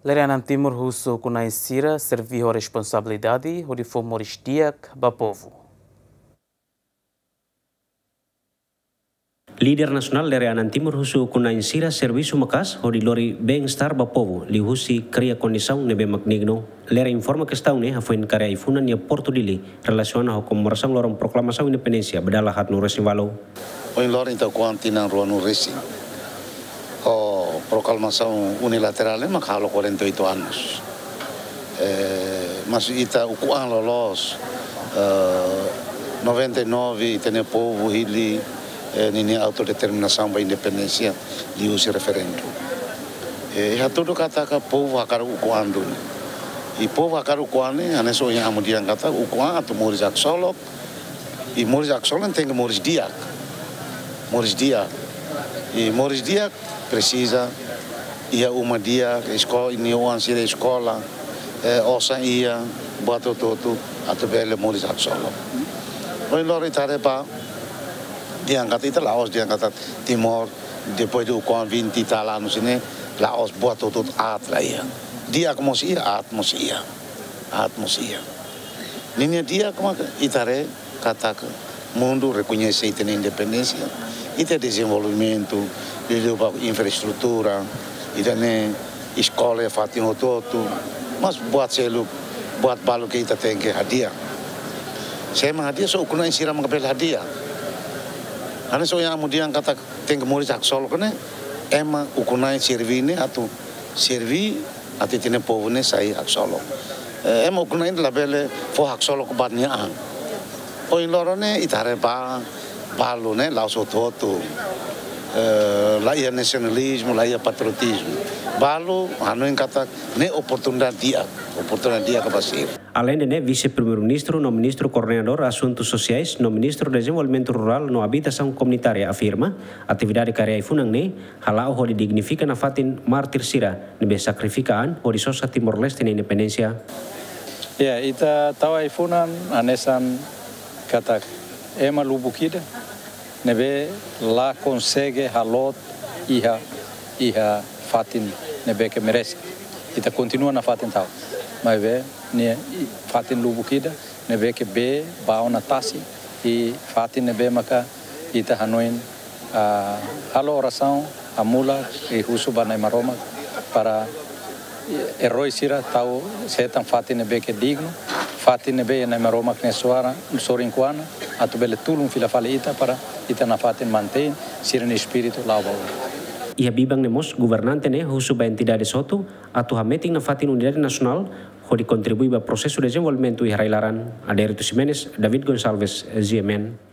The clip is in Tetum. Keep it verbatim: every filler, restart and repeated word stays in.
Lere Anan Timur husu ukun-na'in sira serví ho responsabilidade hodi fó moris di'ak ba povu. Líder nasionál Lere Anan Timur husu ukun-na'in sira servisu maka'as hodi lori bem-estar ba povu, liuhusi kria kondisaun ne'ebé mak dignu. Lere informa kestaun ne'e hafoin kaer ai-funan iha Portu Dili, relasiona ho komemorasaun loron proklamasaun independénsia ba dala haatnulu-resin-ualu. Ohin loron ita ukun an tinan ruanulu-resin. Ho proklamasaun unilaterál ne'e mak halo quarenta e oito anos. Eh, mas ita ukun an loloos, eh, noventa e nove ita-nia povu hili, eh, ninia autodeterminasaun ba independénsia liuhusi referendu. Eh, hatudu katak povu hakarak ukun an duni. I povu hakarak ukun an ne'e, hanesan ohin amu dehan katak ukun an atu moris haksolok, i moris haksolok tenke moris di'ak. Moris di'ak. I moris di'ak presiza iha uma di'ak, esko-, nia oan sira eskola, eh, osan iha, buat hotu-hotu, atu bele moris haksolok. Ohin loron ita haree ba, dehan katak ita la'ós, dehan katak Timor, depois de ukun an vinte e tal anos ne'e, la'ós buat hotu-hotu aat la iha. Di'ak mós iha, aat mós iha. Aat mós iha. Ninia di'ak mak ita haree katak mundu rekoñese ita-nia independénsia, ita dezenvolvimentu, liuliu ba infraestrutura, ita-nia eskola iha fatin hotu-hotu, mas buat seluk, buat balu ke ita tenke hadi'a. Se ema hadi'a, só ukun-na'in sira mak bele hadi'a. Hanesan ohin amu dehan katak tenke moris haksolok ne'e, ema ukun-na'in serví ne'e atu serví atu ita-nia povu ne'e sai haksolok. Eh, ema ukun-na'in labele fó haksolok ba nia an. Ohin loron ne'e ita haree ba balu ne'e la'ós hotu-hotu. Eh, la iha nasionalizmu, la iha patriotizmu. Balu hanoin katak ne'e oportunidade di'ak, oportunidade di'ak ba sira. Aleinde ne'e, Vise-Primeiru-Ministru no Ministru Koordenadór Asuntu Sosiais no Ministru Dezenvolvimentu Rurál no Abitasaun Komunitária afirma, atividade kaer ai-funan ne'e hala'o hodi dignifika nafatin mártir sira ne'ebé sakrifika an hodi sosa Timor-Leste nia independénsia. Ya, ita tau ai-funan hanesan katak ema lubuk ida ne'ebé la konsege haloot iha, iha fatin ne'ebé ke merese. Ita kontinua nafatin tau. Maibé, ne'e fatin lubuk ida ne'ebé ke bee ba ona tasi, i fatin ne'ebé maka ita hanoin, ah, halo orasaun, hamulak, i husu ba Na'i Maromak para eroi sira tau hetan fatin ne'ebé ke dignu, fatin ne'ebé Na'i Maromak nia sorin, sorin kuana, atu bele tulun fila fali ita para ita nafatin mantein sira-nia espíritu la'o ba oin. Iha biban ne'e mós governante ne'e husu ba entidade hotu atu hametin nafatin unidade nasionál hodi kontribui ba prosesu dezenvolvimentu iha rai-laran. Adérito Ximenes, David Gonçalves, G M N.